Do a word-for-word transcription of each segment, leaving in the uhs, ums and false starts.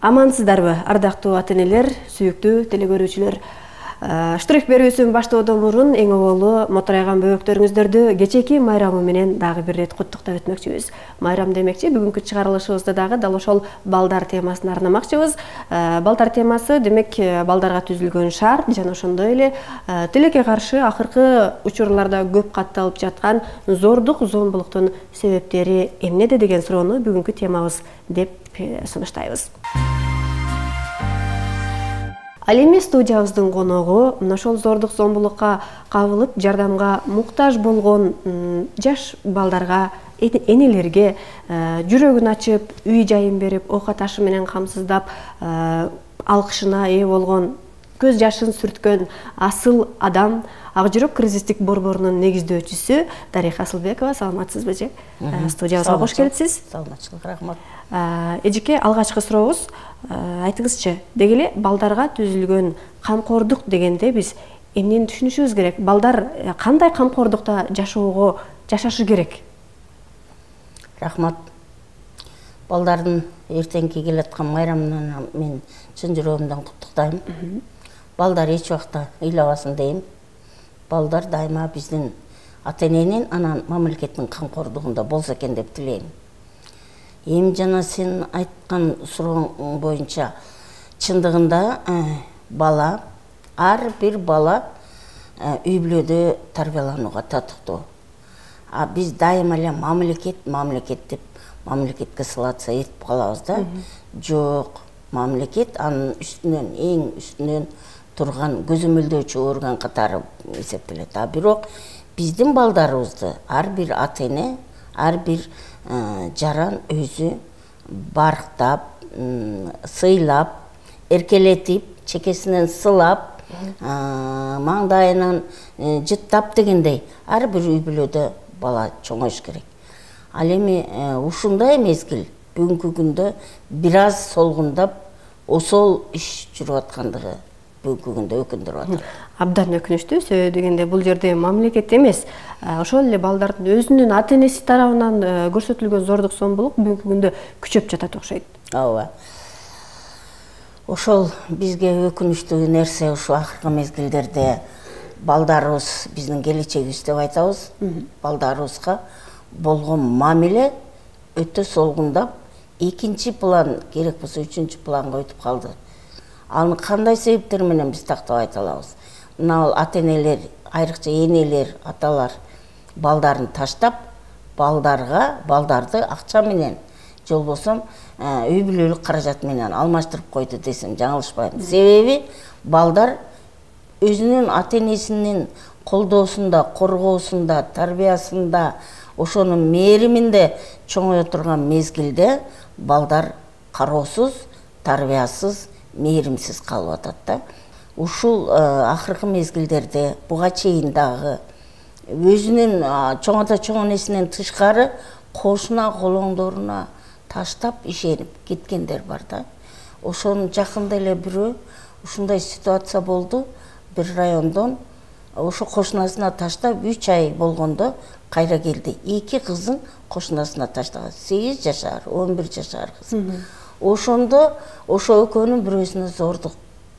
Амансыздарбы, ардактуу ата-энелер, сүйүктүү телекөрүүчүлөр. Штрих берүүсүн баштоодон мурун эң оболу моторайган бөбөктөрүңүздөрдү кечээки майрамы менен дагы бир ирет куттуктап өтмөкчүбүз. Майрам демекчи, бүгүнкү чыгарылышыбызда дагы дал ошол балдар темасын арнамакчыбыз. Балдар темасы демек балдарга түзүлгөн шаар жана ошондой эле тилекке каршы акыркы учурларда көп катталып жаткан зордук, зомбулуктун себептери эмнеде деген суроону бүгүнкү темабыз деп сунуштайбыз. Ал эми студиябыздын коногу мына ошол зордук, зомбулукка кабылып жардамга муктаж болгон жаш балдарга, энелерге жүрөгүн ачып, үй жайын берип, оокат ашы менен камсыздап, алкышына ээ болгон, көз жашын сүрткөн асыл адам, Ак жүрөк кризистик борборунун негиздөөчүсү Дариха Асылбекова. Саламатсызбы же? Студиябызга кош келипсиз. Саламатчылык, рахмат. Эжеке, алгачкы сурообуз, айтыңызчы, деги эле балдарга түзүлгөн камкордук дегенде биз эмнени түшүнүшүбүз керек? Балдар кандай камкордукта жашоого жашашы керек? Рахмат. Балдардын эртеңки келаткан майрамынан мен чын жүрөгүмдөн куттуктайм. Балдар эч убакта ыйлабасын дейм. Балдар дайыма биздин ата-эненин, анан мамлекеттин камкордугунда болсо экен деп тилейм. Эми жана сен айткан сурооң боюнча чындыгында бала, ар бир бала үй бүлөдө тарбияланууга татыктуу. А биз дайыма эле мамлекет, мамлекет деп мамлекетке ссылаться этип калабыз да. Жок, мамлекет анын үстүнөн, эң үстүнөн турган көзөмөлдөөчү орган катары эсептелет. А бирок биздин балдарыбызды ар бир ата-эне, ар бир жаран өзү барктап, сыйлап, эркелетип, чекесинен сылап, маңдайынан жыттап дегендей ар бир үй бүлөдө бала чоңоюш керек. Ал эми ушундай мезгил бүгүнкү күндө бир аз солгундап, осол иш жүрүп аткандыгы бүгүнкү күндө өкүндүрүп атат. Абдан өкүнүчтүү, себеби дегенде бул жерде мамлекет эмес, ошол эле балдардын өзүнүн ата-энеси тарабынан көрсөтүлгөн зордук, зомбулук бүгүнкү күндө күчөп жатат окшойт. Ооба. Ошол бизге өкүнүчтүү нерсе ушу акыркы мезгилдерде балдарыбыз биздин келечегибиз деп айтабыз. Балдарыбызга болгон мамиле өтө солгундап, экинчи план, керек болсо үчүнчү планга өтүп калды. Аны кандай себептер менен биз тактап айта алабыз? Мына ата-энелер, айрыкча энелер, аталар балдарын таштап, балдарга, балдарды акча менен, жолбосо үй бүлөлүк каражат менен алмаштырып койду десем жаңылышпайм. Себеби балдар өзүнүн ата-энесинин колдоосунда, коргоосунда, тарбиясында, ошонун мээриминде чоңое турган мезгилде балдар кароосуз, тарбиясыз, мээримсиз калып атат да. Ушул акыркы мезгилдерде буга чейин дагы өзүнүн чоңото чоң энесинен тышкары кошуна колоңдоруна таштап ишенип кеткендер бар да. Ошонун жакында эле бирөө ушундай ситуация болду. Бир райондон ошо кошунасына таштап үч ай болгондо кайра келди. Эки кызын кошунасына таштаган. сегиз жашар, он бир жашар кыз. Ошондо ошо экөөнүн бирөөсүнө зордук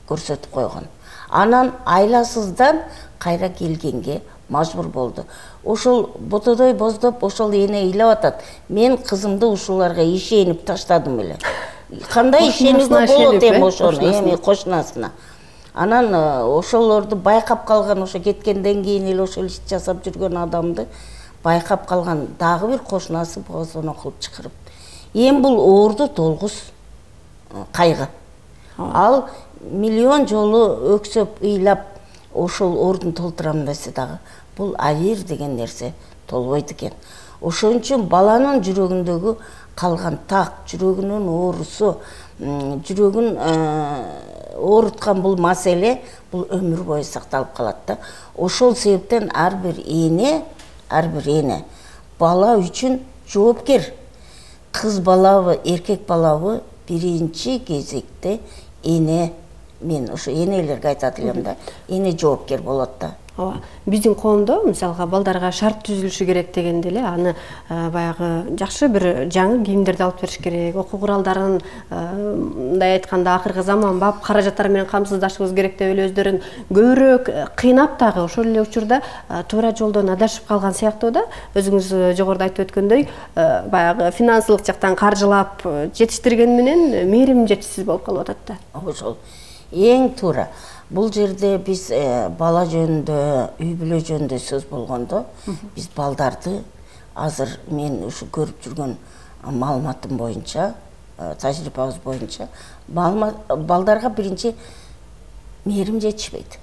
көрсөтүп койгон. Анан айласыздан кайра келгенге мажбур болду. Ошол ботодой боздоп, ошол эне ыйлап атат. Мен кызымды ушуларга ишенип таштадым эле. Кандай ишенүүгө болот эми ошону, эми кошунасына. Анан ошолорду байкап калган, ошо кеткенден кийин эле ошол ишти жасап жүргөн адамды байкап калган дагы бир кошунасы боозоно кылып чакырып. Эми бул оорду толгуз кайгы. Ал миллион жолу өксөп, ыйлап, ошол ордун толтурам десе дагы, бул авир деген нерсе толбойт экен. Ошон үчүн баланын жүрөгүндөгү калган так, жүрөгүнүн оорусу, жүрөгүн ооруткан бул маселе, бул өмүр бою сакталып калат да. Ошол себептен ар бир эне, ар бир эне бала үчүн жоопкер. Кыз балабы, эркек балабы биринчи кезекте эне, мен ошо энелерге айтат элем да, эне жоопкер болот да. Ооба, биздин коомдо мисалга балдарга шарт түзүлүшү керек дегенде эле аны баягы жакшы бир жаңы кийимдерди алып бериш керек, окуу куралдарын мындай айтканда акыркы заманбап каражаттар менен камсыздашыбыз керек деп эле өздөрүн көбүрөөк кыйнап дагы ошол эле учурда туура жолдон адашып калган сыяктуу да. Өзүңүз жогоруда айтып өткөндөй баягы финансылык жактан каржылап жетиштирген менен мээрим жетишсиз болуп калып атат да. Ошол эң туура. Бул жерде биз бала жөнүндө, үй бүлө жөнүндө сөз болгондо, биз балдарды азыр мен ушу көрүп жүргөн маалыматым боюнча, тажрыйбабыз боюнча, балдарга биринчи мээрим жетишпейт.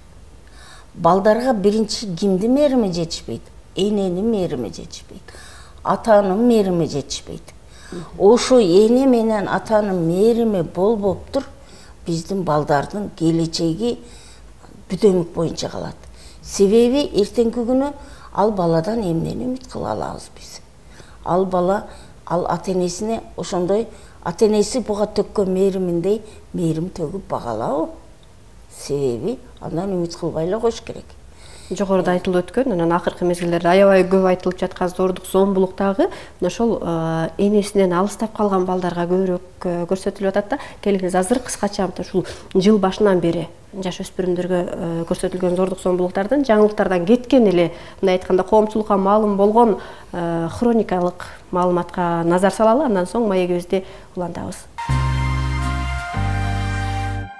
Балдарга биринчи кимди мээрими жетишпейт? Эненин мээрими жетишпейт. Атанын мээрими жетишпейт. Ошо эне менен атанын мээрими болбоптур биздин балдардын келечеги бүдөмүк боюнча калат. Себеби эртеңки күнү ал баладан эмнени үмүт кыла алабыз биз? Ал бала, ал ата-энесине ошондой ата-энеси буга төккөн мээриминдей мээрим төгүп бага алабы? Себеби андан үмүт кылбай эле коюш керек. Жогоруда айтылып өткөн, анан акыркы мезгилдерде аябай көп айтылып жаткан зордук зомбулук дагы ошол энесинен алыстап калган балдарга көбүрөөк көрсөтүлүп атат да. Келиңиз азыр кыскача ушул жыл башынан бери жаш өспүрүмдөргө көрсөтүлгөн зордук зомбулуктардын жаңылыктардан кеткен эле, мындай айтканда коомчулукка маалым болгон хроникалык маалыматка назар салалы, андан соң маегибизди улантабыз.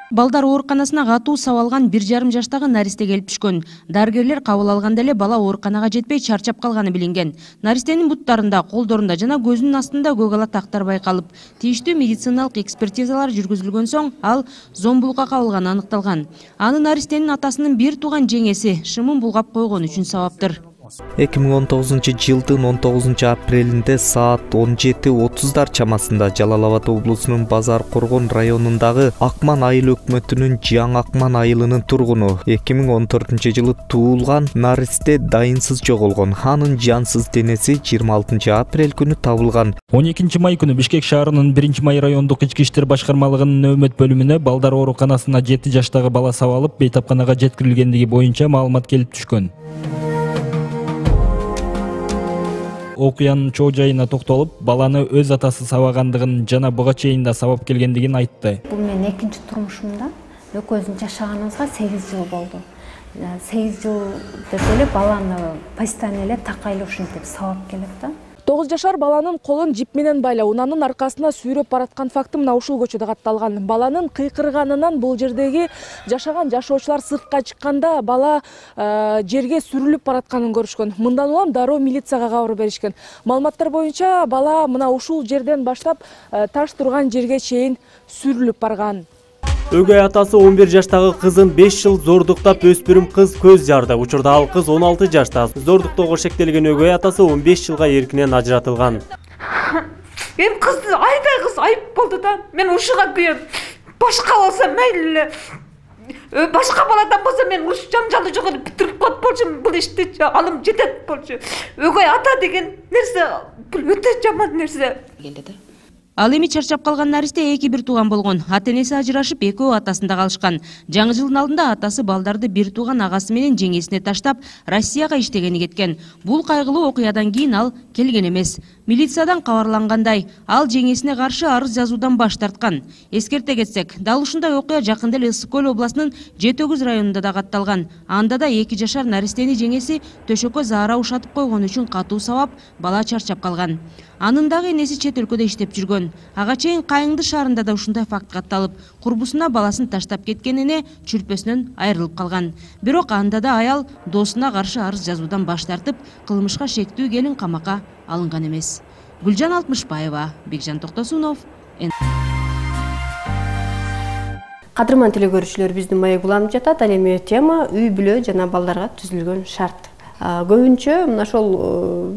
Балдар ооруканасына катуу сабалган бир жарым жаштагы наристе келип түшкөн. Дарыгерлер кабыл алганда эле бала ооруканага жетпей чарчап калганы билинген. Наристенин буттарында, колдорунда жана көзүнүн астында көк ала тактар байкалып, тийиштүү медициналык экспертизалар жүргүзүлгөн соң ал зомбулукка кабылганы аныкталган. Аны наристенин атасынын бир тууган жеңеси шымын булгап койгон үчүн сабаптыр. эки миң он тогузунчу жылдын он тогузунчу апрелинде саат он жети отуздар чамасында Жалал Абад облусунун Базар Коргон районундагы Акман айыл өкмөтүнүн Жаңы Акман айылынын тургуну эки миң он төртүнчү жылы туулган наристе дайынсыз жоголгон. Анын жансыз денеси жыйырма алтынчы апрель күнү табылган. он экинчи май күнү Бишкек шаарынын биринчи май райондук ички иштер башкармалыгынын нөөмөт бөлүмүнө балдар ооруканасына жети жаштагы бала сабалып бейтапканага жеткирилгендиги боюнча маалымат келип түшкөн. Окуянын чоо жайына токтолуп, баланы өз атасы сабагандыгын жана буга чейин да сабап келгендигин айтты. Бул менин экинчи турмушумда экөөбүздүн жашаганыбызга сегиз жыл болду. сегиз жыл деп эле баланы постоянно эле такайлы ушинтип сабап келет да. тогуз жашар баланын колун жип менен байлап, унанын аркасына сүйрөп бараткан факты мына ушул көчөдө катталган. Баланын кыйкырганынан бул жердеги жашаган жашоочулар сыртка чыкканда бала жерге сүрүлүп баратканын көрүшкөн. Мындан улам дароо милицияга кабар беришкен. Маалыматтар боюнча бала мына ушул жерден баштап таш турган жерге чейин сүрүлүп барган. Өгөй атасы он бир жаштагы кызын беш жыл зордуктап өспүрүм кыз көз жарды. Учурда ал кыз он алты жашта. Зордуктоого шектелген өгөй атасы он беш жылга эркинен ажыратылган. Эми кызды айдай кыз айып болду да. Мен ушуга күйөм. Башка болсо мейли эле. Башка баладан болсо мен уш жанжалды жок эле бүтүрүп коет болчумун бул ишти. Алым жетет болчу. Өгөй ата деген нерсе бул өтө жаман нерсе. Ал эми чарчап калган наристе эки бир тууган болгон. Ата-энеси ажырашып, экөө атасында калышкан. Жаңы жылдын алдында атасы балдарды бир тууган агасы менен жеңесине таштап, Россияга иштегени кеткен. Бул кайгылуу окуядан кийин ал келген эмес. Милициядан кабарлангандай, ал жеңесине каршы арыз жазуудан баш тарткан. Эскерте кетсек, дал ушундай окуя жакында эле Ысык Көл областынын Жети Өгүз районунда да катталган. Анда да эки жашар наристени жеңеси төшөккө заара ушатып койгон үчүн катуу сабап, бала чарчап калган. Анын дагы энеси чет өлкөдө иштеп жүргөн. Ага чейин Кайыңды шаарында да ушундай факт катталып, курбусуна баласын таштап кеткен эне чүрпөсүнөн айрылып калган. Бирок анда да аял досуна каршы арыз жазуудан баш тартып, кылмышка шектүү келин камакка алынган эмес. Гүлжан Алтмышбаева, Бекжан Токтосунов. Кадырман теле көрүүчүлөр, биздин маек уланып жатат. Ал эми тема үй бүлө жана балдарга түзүлгөн шарт. Көбүнчө мына ошол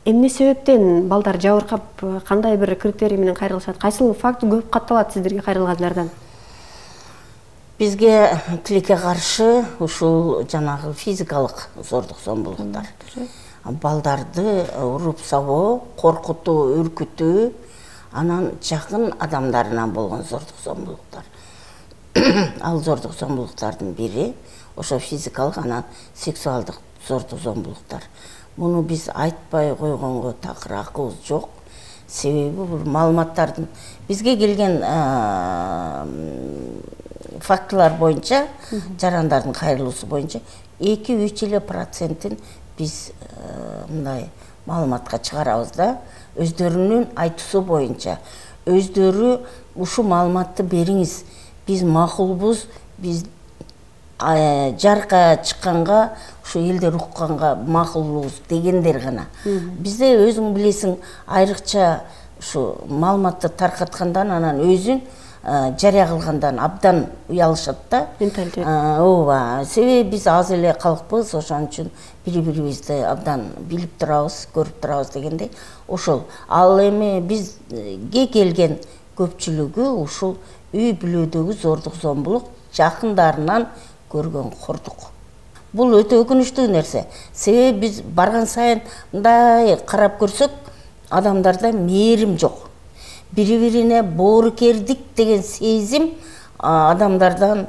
эмне себептен балдар жабыркап, кандай бир критерий менен кайрылышат? Кайсыл факт көп катталат сиздерге кайрылгандардан? Бизге тилекке каршы ушул жанагы физикалык зордук зомбулуктар. Балдарды уруп сабоо, коркутуу, үркүтүү, анан жакын адамдарынан болгон зордук зомбулуктар. ал зордук зомбулуктардын бири, ошо физикалык анан сексуалдык зордук зомбулуктар. Муну биз айтпай койгонго такыр акыбыз жок. Себеби бул маалыматтардын бизге келген фактылар боюнча, жарандардын кайрылуусу боюнча эки үч эле процентин биз мындай маалыматка чыгарабыз да. Өздөрүнүн айтуусу боюнча, өздөрү ушул маалыматты бериңиз, биз макулбуз, биз жарка чыкканга, ушу элдер укканга макулбуз дегендер гана. Бизде өзүң билесиң, айрыкча ушу маалыматты таркаткандан анан өзүн жарыя кылгандан абдан уялышат да. Менталитет. Ооба, себеби биз аз эле калкпыз, ошон үчүн бири-бирибизди абдан билип турабыз, көрүп турабыз дегендей. Ошол. Ал эми бизге келген көпчүлүгү ушул үй бүлөдөгү зордук зомбулук жакындарынан көргөн кордук. Бул өтө өкүнүчтүү нерсе. Себеби биз барган сайын мындай карап көрсөк, адамдарда мээрим жок. Бири-бирине боорукердик деген сезим адамдардан,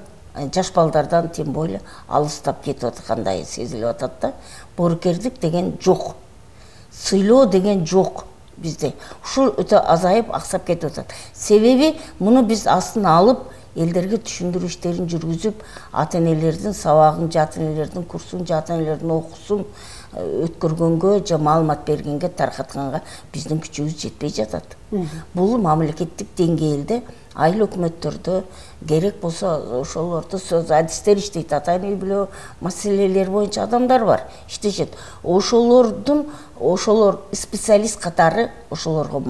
жаш балдардан тем более алыстап кетип аткандай сезилип атат да. Боорукердик деген жок. Сыйлоо деген жок бизде. Ушул өтө азайып, аксап кетип атат. Себеби муну биз астына алып, элдерге түшүндүрүү иштерин жүргүзүп, ата-энелердин сабагын, ата-энелердин курсун, ата-энелердин окуусун өткөргөнгө же маалымат бергенге, таркатканга биздин күчүбүз жетпей жатат. Бул мамлекеттик деңгээлде айыл өкмөттөрдө керек болсо ошолорду сөз адистер иштейт, ата-эне үй бүлө маселелери боюнча адамдар бар, иштешет. Ошолордун ошолор специалист катары ошолорго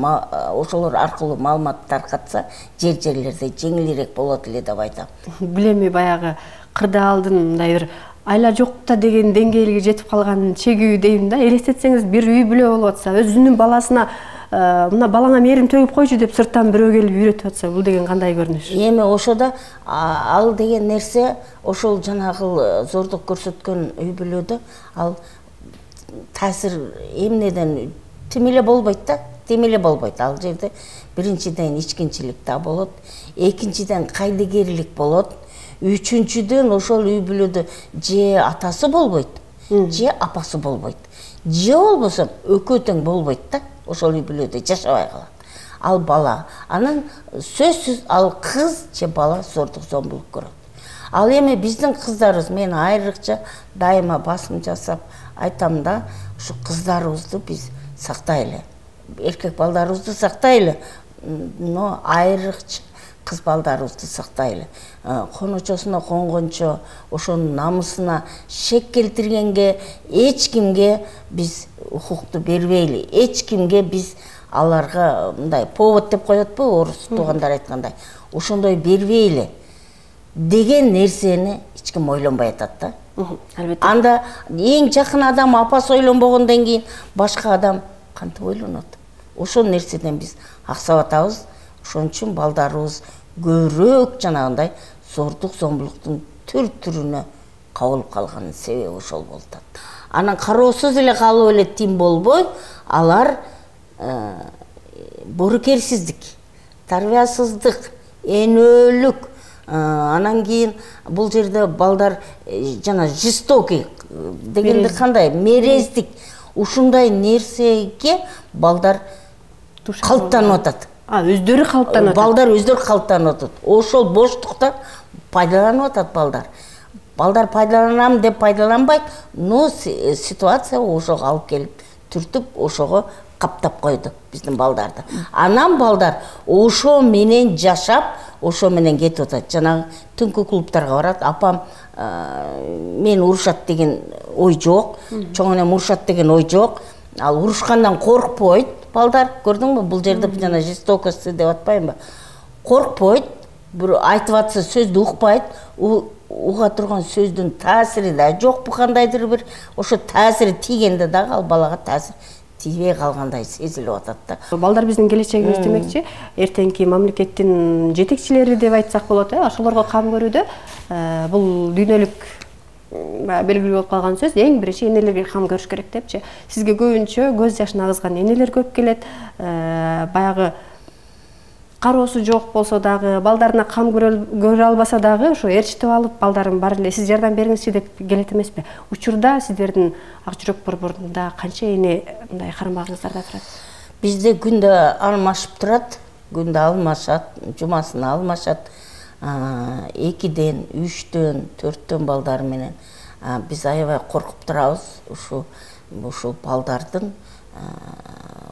ошолор аркылуу маалымат таркатса, жер-жерлерде жеңилирээк болот эле деп айтам. Билеми баягы кырдаалдын мындай бир айла жокта деген деңгээлге жетип калган чегүү дейм да. Элестетсеңиз, бир үй бүлө болуп атса, өзүнүн баласына мына балаңа мээрим төгүп койчу деп сырттан бирөө келип үйрөтүп атса, бул деген кандай көрүнүш? Эми ошодо ал деген нерсе, ошол жанагы зордук көрсөткөн үй бүлөдө ал таасир эмнеден тим эле болбойт да, тим эле болбойт. Ал жерде биринчиден ичкинчилик да болот, экинчиден кайдыгерлик болот, үчүнчүдөн ошол үй бүлөдө же атасы болбойт, же апасы болбойт, же болбосо экөө тең болбойт да. Ошол үй бүлөдө жашабай калат. Ал бала, анан сөзсүз ал кыз же бала зордук зомбулук көрөт. Ал эми биздин кыздарыбыз, мен айрыкча дайыма басым жасап айтам да, ушу кыздарыбызды биз сактайлы. Эркек балдарыбызды сактайлы, но айрыкча кыз балдарыбызды сактайлы. Коночосуна конгончо, ошонун намысына шек келтиргенге эч кимге биз укукту бербейли. Эч кимге биз аларга мындай повод деп коетпу, орус туугандар айткандай. Ошондой бербейли деген нерсени эч ким ойлонбой атат да. Албетте. Анда эң жакын адам апасы ойлонбогондон кийин башка адам кантип ойлонот? Ошол нерседен биз аксап атабыз. Ошон үчүн балдарыбыз көбүрөөк жанагындай зордук зомбулуктун түр-түрүнө кабылып калганын себеби ошол болуп атат. Анан кароосуз эле калып эле тим болбой, алар боорукерсиздик, тарбиясыздык, энөлүк, анан кийин бул жерде балдар жана жестокий дегенде кандай, мерездик, ушундай нерсеге балдар калыптанып атат. А, өздөрү калыптанып атат. Балдар өздөрү калыптанып атат. Ошол боштуктан пайдаланып атат балдар. Балдар пайдаланам деп пайдаланбайт, но ситуация ошого алып келип түртүп, ошого каптап койду биздин балдарды. Анан балдар ошо менен жашап, ошо менен кетип атат. Жанагы түнкү клубтарга барат, апам мен урушат деген ой жок, чоң энем урушат деген ой жок. Ал урушкандан коркпойт балдар, көрдүңбү? Бул жерде жана жестокость деп атпаймынбы? Коркпойт, бир айтып атса сөздү укпайт, уга турган сөздүн таасири да жокпу кандайдыр бир, ошо таасири тийгенде дагы ал балага таасир тийбей калгандай сезилип атат да. Балдар биздин келечегибиз демекчи, эртеңки мамлекеттин жетекчилери деп айтсак болот, э, ошолорго кам көрүүдө бул дүйнөлүк белгилүү болуп калган сөз, эң биринчи энелерге кам көрүш керек депчи. Сизге көбүнчө көз жашын агызган энелер көп келет. Баягы кароосу жок болсо дагы, балдарына кам көрө албаса дагы ошо ээрчитип алып, балдарым бар эле, сиз жардам бериңизчи деп келет эмеспи? Учурда сиздердин Ак жүрөк борборунда канча эне мындай кармагыңыздарда турат? Бизде күндө алмашып турат, күндө алмашат, жумасына алмашат. экиден, үчтөн, төрттөн балдар менен биз аябай коркуп турабыз. Ушу ушул балдардын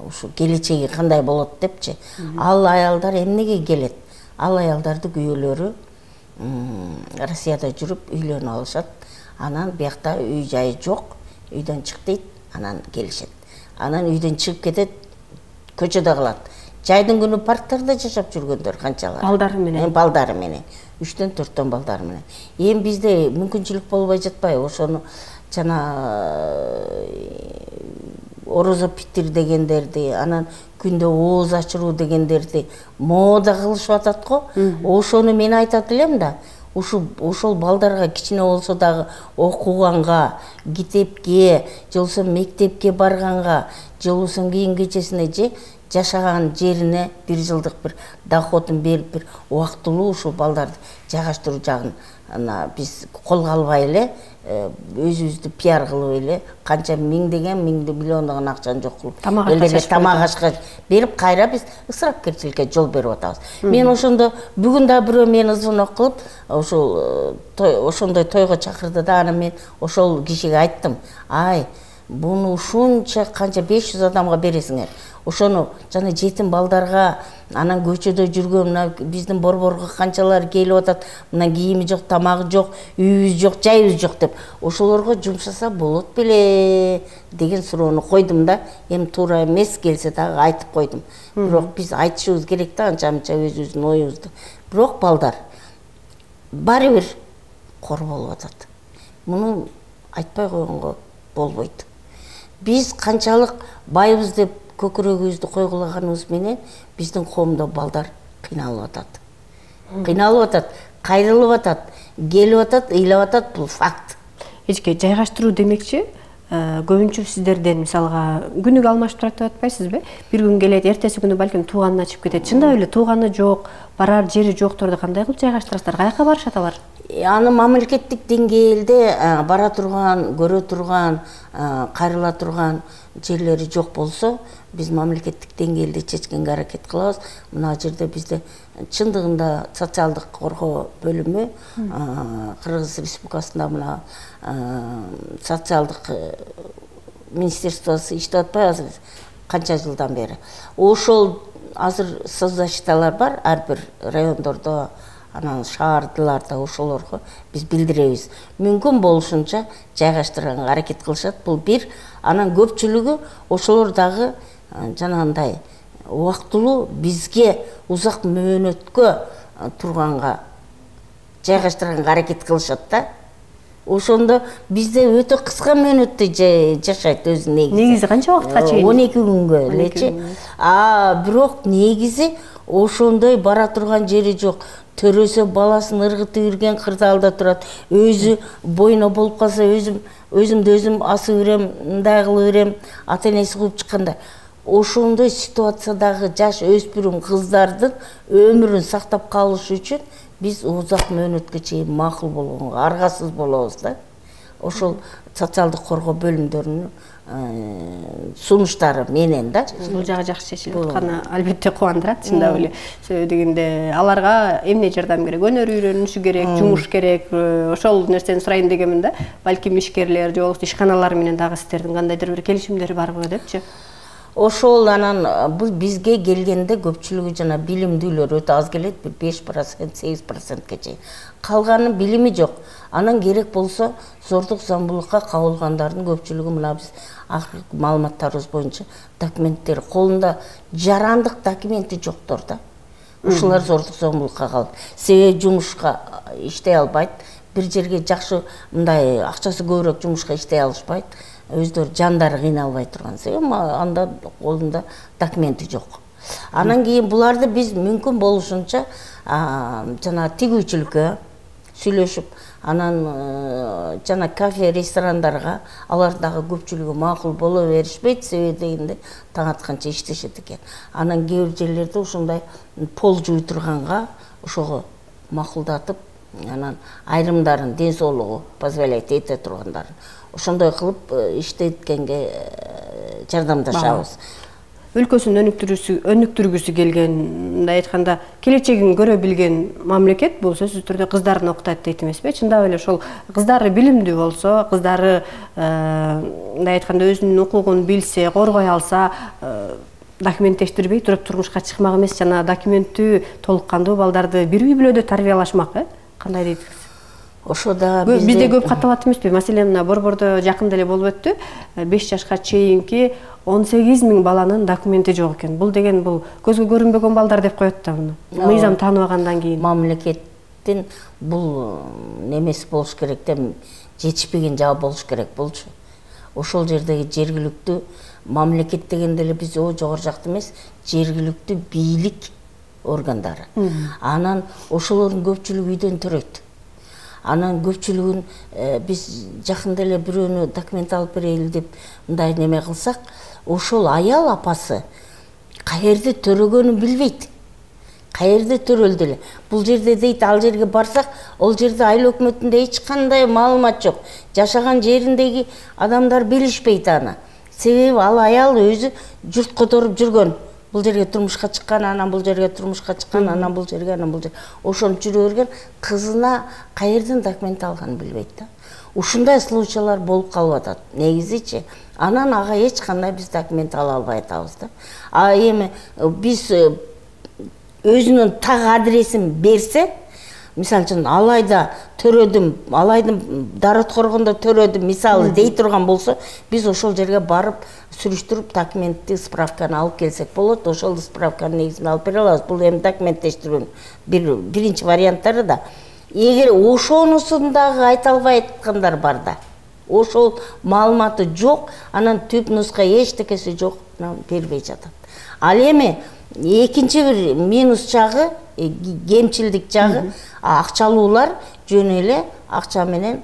ушу келечеги кандай болот депчи. Ал аялдар эмнеге келет? Ал аялдардын күйөөлөрү Россияда жүрүп үйлөнүп алышат. Анан биякта үй жайы жок, үйдөн чык дейт, анан келишет. Анан үйдөн чыгып кетет, көчөдө калат. Жайдын күнү парктарда жашап жүргөндөр канчалар. Балдары менен. Балдары менен. үчтөн төрттөн балдары менен. Эми бизде мүмкүнчүлүк болбой жатпай, ошону жана орозо питир дегендерди, анан күндө ооз ачыруу дегендерди мода кылышып атат го. Ошону мен айтат элем да, ушул ошол балдарга кичине болсо дагы окуганга, китепке, же болбосо мектепке барганга, же болбосо кийин кечесине же жашаган жерине бир жылдык бир доходун берип, бир убактылуу ушул балдарды жайгаштыруу жагын биз колго албай эле, өзүбүздү пиар кылып эле, канча миңдеген, миңди миллиондогон акчаны жок кылып, эле тамак ашка берип, кайра биз ысырапкерчиликке жол берип атабыз. Мен ошондо бүгүн да бирөө мени звонок кылып, ошол ошондой тойго чакырды да, анан мен ошол кишиге айттым: "Ай, буну ушунча канча беш жүз адамга бересиңер. Ошону жана жетим балдарга, анан көчөдө жүргөн мына биздин борборго канчалар келип атат, мына кийими жок, тамагы жок, үйүбүз жок, жайыбыз жок деп, ошолорго жумшаса болот беле" деген суроону койдум да. Эми туура эмес келсе дагы айтып койдум. Бирок биз айтышыбыз керек да, анча-мынча өзүбүздүн оюбузду. Бирок балдар баары бир кор болуп атат. Муну айтпай койгонго болбойт. Биз канчалык байбыз деп көкүрөгүбүздү койгулаганыбыз менен биздин коомдо балдар кыйналып атат. Кыйналып атат, кайрылып атат, келип атат, ыйлап атат, бул факт. Эчке жайгаштыруу демекчи, көбүнчө сиздерден мисалга күнүгө алмашып турат деп атпайсызбы? Бир күн келет, эртеси күнү балким тууганына чыгып кетет. Чындап эле тууганы жок, барар жери жокторду кандай кылып жайгаштырасыздар? Каяка барышат алар? Аны мамлекеттик деңгээлде бара турган, көрө турган, кайрыла турган жерлери жок болсо, биз мамлекеттик деңгээлде чечкенге аракет кылабыз. Мына жерде бизде чындыгында социалдык коргоо бөлүмү Кыргыз Республикасында мына социалдык министерствосу иштеп атпайбы азыр канча жылдан бери. Ошол азыр соцзащиталар бар ар бир райондордо, анан шаардыларда, ошолорго биз билдиребиз. Мүмкүн болушунча жайгаштырганга аракет кылышат. Бул бир. Анан көпчүлүгү ошолор дагы жанагындай убактылуу бизге узак мөөнөткө турганга жайгаштырганга аракет кылышат да. Ошондо бизде өтө кыска мөөнөттө жашайт өзү негизи. Негизи канча убакытка чейин? он эки күнгө элечи. А бирок негизи ошондой бара турган жери жок. Төрөсө баласын ыргытып үрген кырдаалда турат. Өзү бойно болуп калса, өзүм өзүмдү өзүм асып үрем, мындай кылып үрем, ата-энеси кууп чыкканда. Ошондой ситуациядагы жаш өспүрүм кыздардын өмүрүн сактап калыш үчүн биз узак мөөнөткө чейин макул болгонго аргасыз болобуз да. Ошол социалдык коргоо бөлүмдөрүнүн сунуштары менен да. Бул жагы жакшы чечилип атканы албетте кубандырат, чындап эле. Дегенде аларга эмне жардам керек? Өнөр үйрөнүшү керек, жумуш керек. Ошол нерсени сурайын дегенмин да. Балким ишкерлер же болбосо ишканалар менен дагы сиздердин кандайдыр бир келишимдер барбы депчи? Ошол анан бул бизге келгенде көпчүлүгү жана билимдүүлөр өтө аз келет, бир беш процент, сегиз процентке чейин. Калганын билими жок. Анан керек болсо зордук зомбулукка кабылгандардын көпчүлүгү мына биз акыркы маалыматтарыбыз боюнча документтери колунда жарандык документи жоктор да. Ушулар зордук зомбулукка калып, себеби жумушка иштей албайт, бир жерге жакшы мындай акчасы көбүрөөк жумушка иштей алышпайт. Өздөрү жандары кыйналбай турган себеби анда колунда документи жок. Анан кийин буларды биз мүмкүн болушунча жана тигүүчүлүккө, сүйлөшүп, анан жана кафе, ресторандарга алардагы көпчүлүгү макул боло беришпейт, себеби дегенде таң атканча иштешет экен. Анан кээ бир жерлерде ушундай пол жууй турганга ошого макулдатып, анан айрымдарын ден соолугу позволяет эте тургандарын ошондой кылып иштеткенге жардамдашабыз. Өлкөсүн өнүктүргүсү келген, мындай айтканда, келечегин көрө билген мамлекет бул сөзсүз түрдө кыздарын окутат дейт эмеспи? Чындап эле ошол кыздары билимдүү болсо, кыздары мындай айтканда өзүнүн укугун билсе, коргой алса, документтештирбей туруп турмушка чыкмак эмес, жана документтүү толук кандуу балдарды бир үй бүлөдө тарбиялашмак, э? Кандай дейсиз? Ошо да бизде көп катталат эмеспи? Маселен, мына Борбордо жакында эле болуп өттү. беш жашка чейинки он сегиз миң баланын документи жок экен. Бул деген бул көзгө көрүнбөгөн балдар деп коет да муну. Мыйзам тааныбагандан кийин. Мамлекеттин бул немеси болуш керек да, жетишпеген жагы болуш керек болчу. Ошол жердеги жергиликтүү мамлекет дегенде эле биз о жогору жакта эмес, жергиликтүү бийлик органдары. Анан ошолордун көпчүлүгү үйдөн төрөйт. Анан көпчүлүгүн биз жакында эле бирөөнү документ алып берели деп мындай неме кылсак, ошол аял апасы каерде төрөгөнүн билбейт. Каерде төрөлдү эле. Бул жерде дейт, ал жерге барсак, ол жерде айыл өкмөтүндө эч кандай маалымат жок. Жашаган жериндеги адамдар билишпейт аны. Себеби ал аял өзү журт которуп жүргөн. Бул жерге турмушка чыккан, анан бул жерге турмушка чыккан, анан бул жерге, анан бул жерге. Ошонуп жүрө берген, кызына каерден документ алганын билбейт да. Ушундай случайлар болуп калып атат. Негизичи, анан ага эч кандай биз документ ала албай атабыз да. А эми биз өзүнүн так адресин берсе, мисалы үчүн Алайда төрөдүм, Алайдын Дарат Коргондо төрөдүм, мисалы дей турган болсо, биз ошол жерге барып сүрүштүрүп документти, справканы алып келсек болот. Ошол справканын негизинде алып бере алабыз. Бул эми документтештирүүнүн бир биринчи варианттары да. Эгер ошонусун дагы айта албай аткандар бар да, ошол маалыматы жок, анан түп нуска эчтекеси жок, бербей жатат. Ал эми экинчи бир минус жагы, кемчилдик жагы, акчалуулар жөн эле акча менен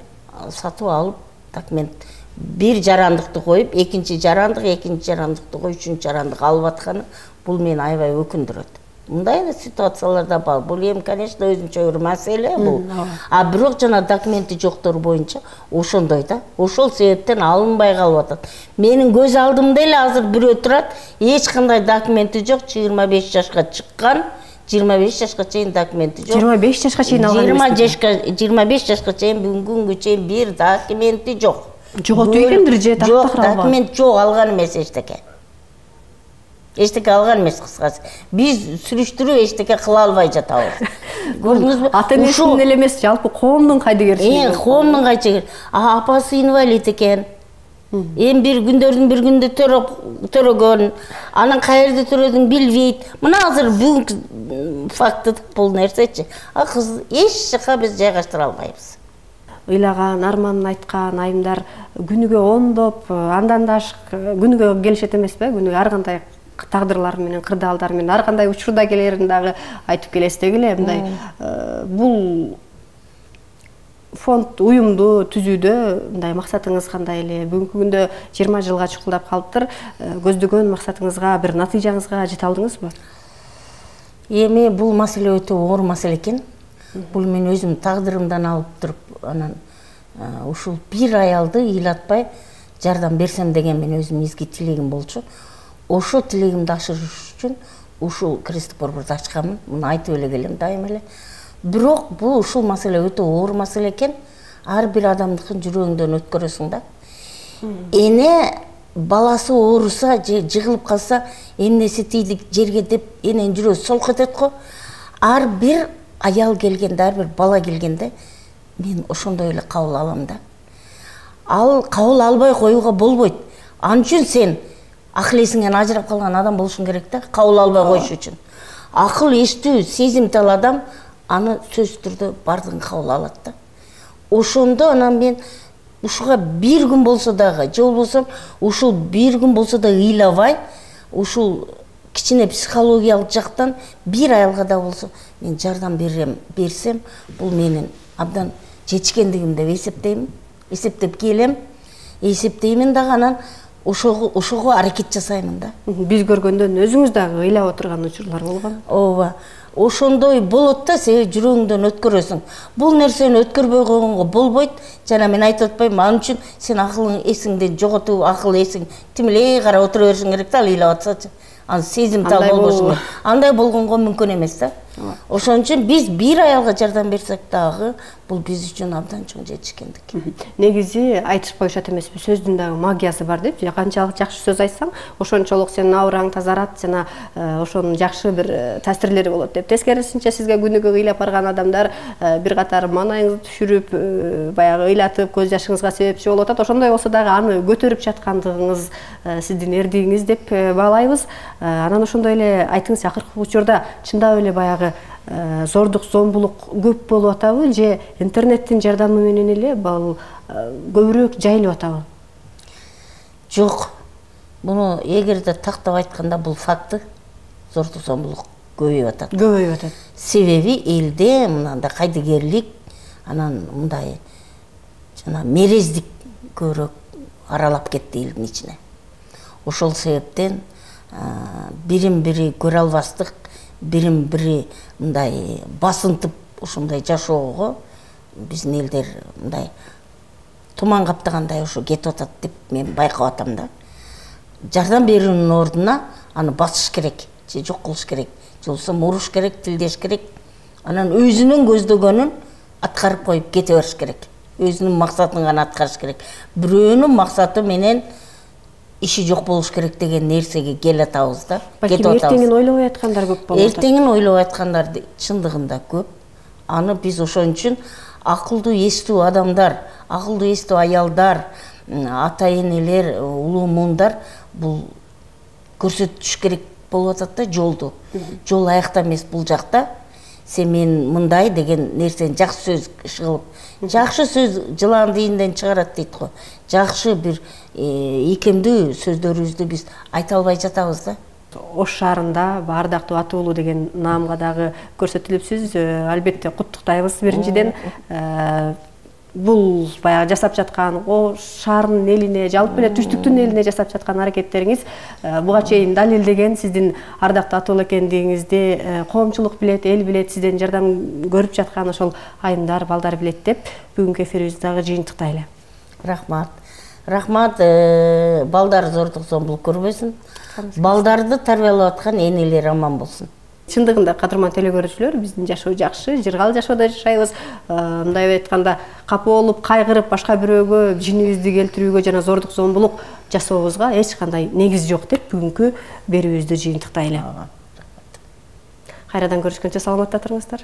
сатып алып документ бир жарандыкты коюп, экинчи жарандык, экинчи жарандыкты коюп, үчүнчү жарандык алып атканы бул мени аябай өкүндүрөт. Мындай эле ситуациялар да бар. Бул эми, конечно, өзүнчө бир маселе бул. А бирок жана документи жоктор боюнча ошондой да. Ошол себептен алынбай калып атат. Менин көз алдымда эле азыр бирөө турат, эч кандай документи жок, жыйырма беш жашка чыккан, жыйырма беш жашка чейин документи жок. жыйырма беш жашка чейин алган эмес. жыйырма беш жашка чейин бүгүнкү күнгө чейин бир документи жок. Жоготуп экендир же тактап Жок, документ жок, алган эмес эчтеке. Эчтеке алган эмес, кыскасы. Биз сүрүштүрүү эчтеке кыла албай жатабыз. Көрдүңүзбү? Ата энесинин эле эмес, жалпы коомдун кайдыгерчилиги. Э, коомдун кайдыгер. А апасы инвалид экен. Эми бир күндөрдүн бир күндө төрөгөн, анан каерде төрөдүн билбейт. Мына азыр бүгүнкү факты бул нерсечи. А кыз эч жака биз жайгаштыра албайбыз. Ыйлаган, арманын айткан айымдар күнүгө ондоп, андан да ашык күнүгө келишет эмеспи? Күнүгө ар кандай тагдырлар менен, кырдаалдар менен, ар кандай учурда келерин дагы айтып келесиз дегиле. Мындай бул фонд уюмду түзүүдө мындай максатыңыз кандай эле? Бүгүнкү күндө жыйырма жылга чукулдап калыптыр. Көздөгөн максатыңызга, бир натыйжаңызга жете алдыңызбы? Эми бул маселе өтө оор маселе экен. Бул мен өзүм тагдырымдан алып туруп, анан ушул бир аялды ыйлатпай жардам берсем деген мен өзүм изги тилегим болчу. Ошо тилегимди ашырыш үчүн ушул кресттик борборду ачканмын. Муну айтып эле келем дайыма эле. Бирок бул ушул маселе өтө оор маселе экен. Ар бир адамдыкын жүрөгүңдөн өткөрөсүң да. Эне баласы ооруса же жыгылып калса, эмнеси тийди жерге деп эненин жүрөгү солк этет го. Ар бир аял келгенде, ар бир бала келгенде мен ошондой эле кабыл алам да. Ал кабыл албай коюуга болбойт. Ал үчүн сен акыл эсиңен ажырап калган адам болушуң керек да, кабыл албай коюш үчүн. Акыл эстүү, сезимтал адам аны сөзсүз түрдө бардыгын кабыл алат да. Ошондо анан мен ушуга бир күн болсо дагы, же болбосо ушул бир күн болсо да ыйлабай, ушул кичине психологиялык жактан бир аялга да болсо мен жардам берем, берсем, бул менин абдан жетишкендигим деп эсептейм, эсептеп келем, эсептеймин дагы анан ошого ошого аракет жасаймын да. Биз көргөндөн өзүңүз дагы ыйлап отурган учурлар болгон. Ооба. Ошондой болот да, себеби жүрөгүңдөн өткөрөсүң. Бул нерсени өткөрбөй койгонго болбойт. Жана мен айтып атпайм, ал үчүн сен акылың эсиңден жоготуп, акыл эсиң тимилей карап отура беришиң керек да, ыйлап атсачы. Аны сезимтал болбошуң керек. Андай болгонго мүмкүн эмес да. Ошон үчүн биз бир аялга жардам берсек дагы, бул биз үчүн абдан чоң жетишкендик. Негизи айтышып коюшат эмеспи, сөздүн дагы магиясы бар деп, канчалык жакшы сөз айтсаң, ошончолук сенин аураң тазарат, жана ошонун жакшы бир таасирлери болот деп. Тескерисинче сизге күнүгө ыйлап барган адамдар бир катар маанайыңызды түшүрүп, баягы ыйлатып, көз жашыңызга себепчи болуп атат. Ошондой болсо дагы аны көтөрүп жаткандыгыңыз сиздин эрдигиңиз деп баалайбыз. Анан ошондой эле айтыңыз, акыркы учурда чындап эле баягы зордук, зомбулук көп болуп атабы же интернеттин жардамы менен эле бул көбүрөөк жайылып атабы? Жок. Буну эгерде тактап айтканда бул факты, зордук, зомбулук көбөйүп атат. Көбөйүп атат. Себеби элде мындай кайдыгерлик, анан мындай жана мерездик көбүрөөк аралап кетти элдин ичине. Ошол себептен бирин бири көрө албастык, бирин бири мындай басынтып ушундай жашоого биздин элдер мындай туман каптагандай ошо кетип атат деп мен байкап атам да. Жардам берүүнүн ордуна аны басыш керек, же жок кылыш керек, же болбосо уруш керек, тилдеш керек. Анан өзүнүн көздөгөнүн аткарып коюп кете бериш керек. Өзүнүн максатын гана аткарыш керек. Бирөөнүн максаты менен иши жок болуш керек деген нерсеге келе атабыз да. Кетип атабыз. Эртеңин ойлобой аткандар көп болот. Эртеңин ойлобой аткандар чындыгында көп. Аны биз ошон үчүн акылдуу эстүү адамдар, акылдуу эстүү аялдар, ата энелер, улуу муундар бул көрсөтүш керек болуп атат да жолду. Жол аякта эмес, бул жакта. Сен мен мындай деген нерсени жакшы сөз кылып, жакшы сөз жылан дийинден чыгарат дейт го. Жакшы бир ийкемдүү сөздөрүбүздү биз айта албай жатабыз да. Ош шаарында Ардактуу ата уулу деген наамга дагы көрсөтүлүпсүз. Албетте куттуктайбыз биринчиден. Бул баягы жасап жаткан Ош шаарынын элине, жалпы эле түштүктүн элине жасап жаткан аракеттериңиз буга чейин далилдеген сиздин ардактуу ата уулу экендигиңизди коомчулук билет, эл билет, сизден жардам көрүп жаткан ошол айымдар, балдар билет деп бүгүнкү эфирибизди дагы жыйынтыктайлы. Рахмат. Рахмат, балдар зордук, зомбулук көрбөсүн. Балдарды тарбиялап аткан энелер аман болсун. Чындыгында кадырман телекөрүүчүлөр, биздин жашоо жакшы, жыргал жашоодо жашайбыз. Мындай айтканда, капа болуп, кайгырып, башка бирөөгө жинибизди келтирүүгө жана зордук, зомбулук жасообузга эч кандай негиз жок деп бүгүнкү берүүбүздү жыйынтыктайлы. Кайрадан көрүшкөнчө саламатта туруңуздар.